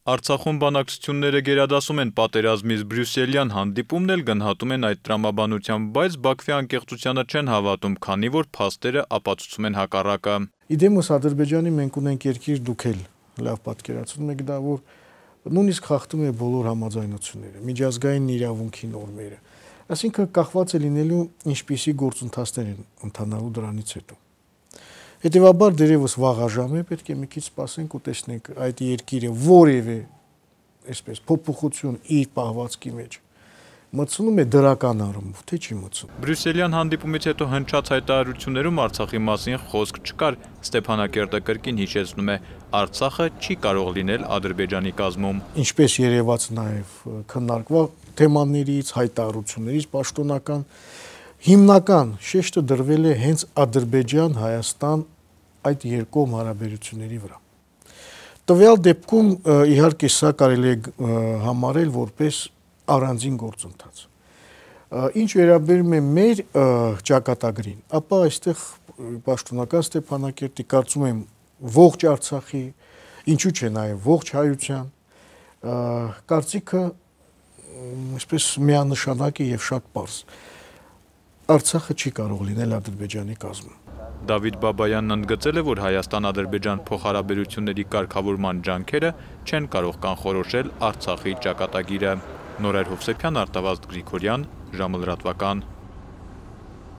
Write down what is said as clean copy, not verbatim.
Արցախում բանակցությունները գերադասում են պատերազմից, բրյուսելյան հանդիպումն էլ գնահատում են այդ տրամաբանությամբ, բայց Բաքվի անկեղծությանը չեն հավատում, քանի որ փաստերը ապացուցում են հակառակը։ Իդեմոս Ադրբեջանի մենք ունենք երկիր, դուք էլ լավ պատկերացնում եք դա, որ նույնիսկ խախտում է բոլոր համաձայնությունները, միջազգային իրավունքի նորմերը։ Այսինքն կախված է լինելու ինչպիսի գործընթացներ են ընթանալու դրանից հետո։ Հետևաբար դերևս վաղաժամ է, պետք է մի քիչ սպասենք ու տեսնենք այդ երկիրը որևէ այսպես փոփոխություն իր պահվածքի մեջ մտցնում է դրական առումով, թե չի մտցնում։ Բրյուսելյան հանդիպումից հետո հնչած հայտարարություններում Արցախի մասին խոսք չկար։ Ստեփանակերտը կրկին հիշեցնում է, Արցախը չի կարող լինել Ադրբեջանի կազմում։ Ինչպես երևաց նաև քննարկվող թեմաներից, հայտարարություններից, պաշտոնական հիմնական շեշտը դրվել է հենց Ադրբեջան-Հայաստան այդ երկկողմ հարաբերությունների վրա։ Տվյալ դեպքում իհարկե սա կարելի է համարել որպես առանձին գործընթաց։ Ինչ վերաբերում է մեր ճակատագրին, ապա այստեղ պաշտոնական Ստեփանակերտի, կարծում եմ, ողջ Արցախի, ինչու՞ չէ նաև ողջ հայության կարծիքը այսպես միանշանակ է եւ շատ պարզ։ Արցախը չի կարող լինել Ադրբեջանի կազմում։ Դավիթ Բաբայանն ընդգծել է, որ Հայաստան-Ադրբեջան փոխհարաբերությունների կարգավորման ջանքերը չեն կարող կանխորոշել Արցախի ճակատագիրը։ Նորայր Հովսեփյան, Արտավազդ Գրիգորյան, ժամը լրատվական։